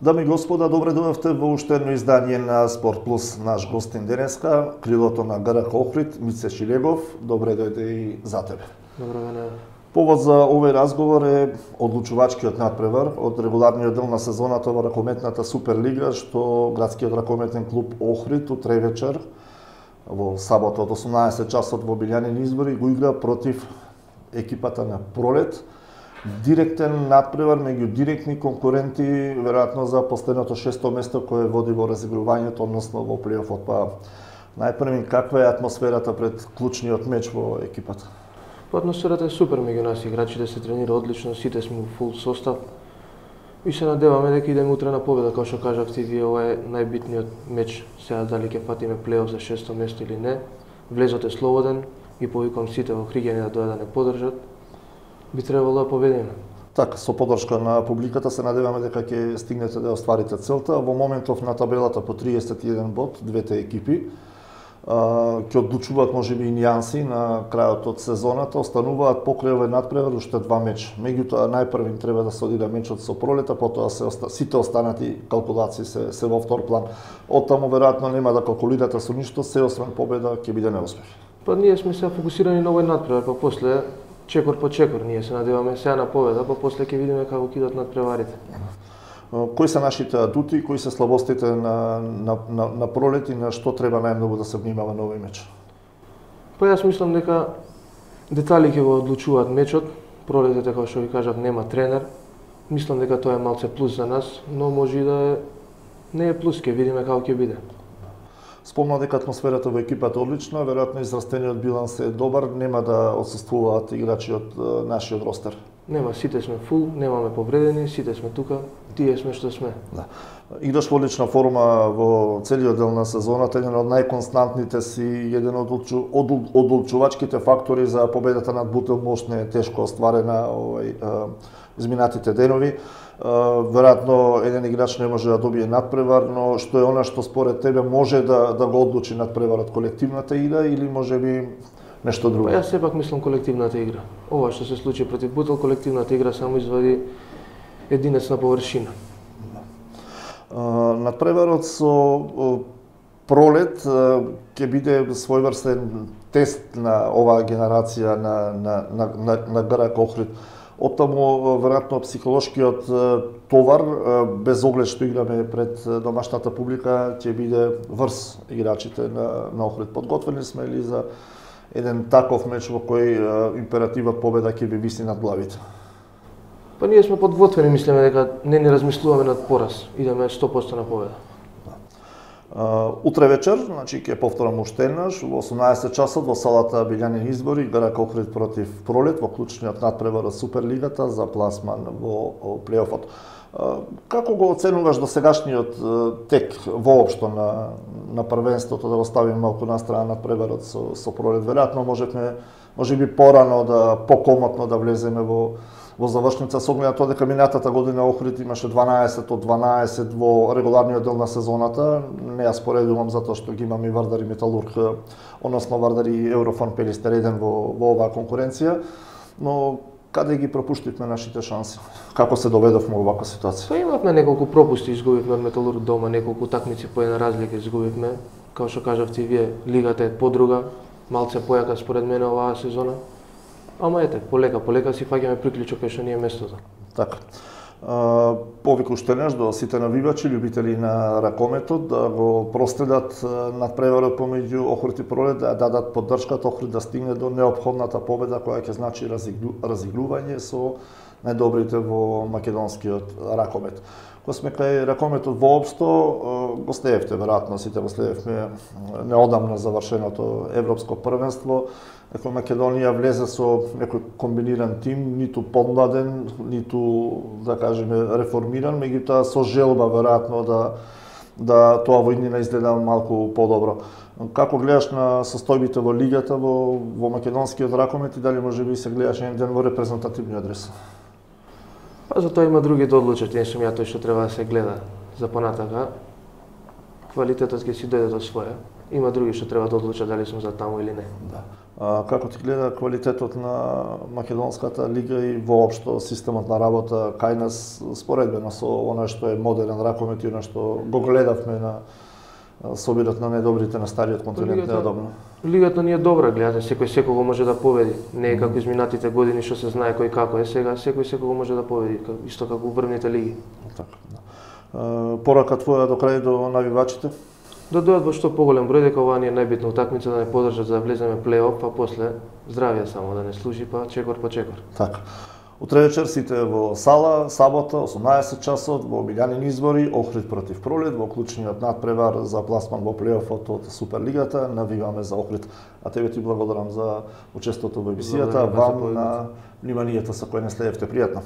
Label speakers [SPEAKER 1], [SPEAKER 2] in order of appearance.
[SPEAKER 1] Дами и господа, добре дојдовте во уште едно издание на Спорт Плюс. Наш гостин денеска, крилото на ГРК Охрид, Мице Шилегов. Добре дојде и за тебе.
[SPEAKER 2] Добро мене.
[SPEAKER 1] Повод за овој разговор е одлучувачкиот надпревар од регуларниот дел на сезоната во ракометната Суперлига, што градскиот ракометен клуб Охрид утре вечер во сабота од 18 часот во Билјанин Избори го игра против екипата на Пролет. Директен надпревар меѓу директни конкуренти, веројатно за последното 6-то место кое води во разигрувањето, односно во плейофот. Па најпрви, каква е атмосферата пред клучниот меч во екипата?
[SPEAKER 2] Атмосферата е супер меѓу нас, играчите се тренира одлично, сите сме во фул состав. И се надеваме дека идеме утре на победа, како што кажавте вие, ова е најбитниот меч. Сега дали ќе фатиме плейоф за 6-то место или не. Влезот е слободен и повикам сите во Хригени да дојдат да не поддржат. Би требало да победиме.
[SPEAKER 1] Така, со поддршка на публиката се надеваме дека ќе стигнете да остварите целта. Во моментов на табелата по 31 бод, двете екипи ќе одлучуваат можеби и нијанси на крајот од сезоната, остануваат покрај овој надпревар уште два меч. Меѓутоа најпрвим треба да се одига мечот со Пролета, потоа сите останати калкулации се во втор план. Оттаму веројатно нема да калкулирате со ништо, се освен победа ќе биде неуспех.
[SPEAKER 2] Па ние сме се фокусирани на овој надпревар, па после чекор по чекор, ние се надеваме сега на победа, па после ќе видиме како ќе идат надпреварите.
[SPEAKER 1] Кои се нашите адути, кои се слабостите на Пролет и на што треба најмногу да се внимава на овој меч?
[SPEAKER 2] Па јас мислам дека детали ќе го одлучуваат мечот. Пролет, како што ви кажав, нема тренер. Мислам дека тоа е малце плюс за нас, но може и да е не е плюс, ќе видиме како ќе биде.
[SPEAKER 1] Спомна дека атмосферата во екипата е одлична, веројатно израстениот биланс е добар, нема да отсуствуваат играчи од нашиот ростер.
[SPEAKER 2] Нема, сите сме фул, немаме повредени, сите сме тука, тие сме што сме.
[SPEAKER 1] Да. Играш во одлична форма во целиот дел на сезоната, еден од најконстантните си, еден од одлучувачките фактори за победата над Бутилмост не е тешко остварена изминатите денови. Веројатно еден играч не може да добие надпревар, но што е она што според тебе може да го одлучи надпреварот, колективната игра или можеби нешто друго?
[SPEAKER 2] Па јас сепак мислам колективната игра. Ова што се случи против Бутил, колективната игра само извади единец на површина.
[SPEAKER 1] Надпреварот со Пролет ќе биде својврстен тест на оваа генерација на ГРК Охрид. Оттаму веројатно психолошкиот товар, без оглед што играме пред домашната публика, ќе биде врз играчите на Охрид. Подготвени сме ли за еден таков меч во кој императивот победа ќе ви виси над главите?
[SPEAKER 2] Па ние сме подготвени, мислиме дека не ни размислуваме над пораз, идеме 100% на победа.
[SPEAKER 1] Утре вечер, значи ќе повторам уште еднаш, во 18 часот во салата Билјанин Избори, ГРК Охрид против Пролет во клучниот надпревар од Суперлигата за пласман во плейофот. Како го оценуваш досегашниот тек воопшто на првенството, да го ставим малку на страна надпреварот со Пролет? Веројатно можеби порано покомотно да влеземе во завршница, со оглед на тоа дека минатата година Охрид имаше 12 од 12 во регуларниот дел на сезоната. Не ја споредувам затоа што ги имаме и Вардар и Металург, односно Вардар и Еврофон Пелистер еден во оваа конкуренција, но каде ги пропуштивме нашите шанси? Како се доведовме во оваква ситуација?
[SPEAKER 2] Па имавме неколку пропусти, изгубивме од Металург дома, неколку такмици по една разлика изгубивме. Како што кажавте и вие, лигата е подруга, малце појака според мене оваа сезона. Ама ете, полека си фаќаме приклучок кај што ни е местото.
[SPEAKER 1] Така. Повик уште еднаш до сите навивачи, љубители на ракометот, да го проследат надпреварот помеѓу Охрид и Пролет, да дадат поддршката Охрид да стигне до неопходната победа која ќе значи разигрување со најдобрите во македонскиот ракомет. Кога сме кај ракометот воопшто, го следевте, веројатно сите го следевме неодамна завршеното европско првенство. Некој Македонија влезе со некој комбиниран тим, ниту помладен, ниту, да кажеме, реформиран, меѓутоа со желба веројатно да тоа во иднина изгледа малку подобро. Како гледаш на состојбите во лигата во македонскиот ракомет и дали можеби се гледаш еден ден во репрезентативниот адрес?
[SPEAKER 2] Па за тоа има други да одлучат, не сум ја тој што треба да се гледа за понатака. Квалитетот ќе си дојде до своја. Има други што треба да одлучат дали сум за таму или не.
[SPEAKER 1] Да. Како ти гледа квалитетот на македонската лига и воопшто системот на работа кај нас споредбено со она што е модерен ракомет и она што го гледавме на собират на најдобрите на стариот континент неодамна?
[SPEAKER 2] Лигата ни е добра, гледате, секој секого може да победи. Не е како изминатите години што се знае кој како е, сега секој секого може да победи, исто како врвните лиги.
[SPEAKER 1] Така, да. Порака твоја до крај до навивачите?
[SPEAKER 2] Да дојдат во што поголем број, дека ова ни е најбитна утакмица, да не подржат за да влеземе плей-оф, па после здравје само, да не служи, па чекор по чекор.
[SPEAKER 1] Така. Утре вечер сите во сала, сабота, 18 часот, во омилјанин избори, Охрид против Пролет, во клучниот надпревар за пласман во плей-офот од Суперлигата. Навиваме за Охрид. А тебе ти благодарам за учеството во емисијата, вам на вниманието со кој не следевте. Пријатно.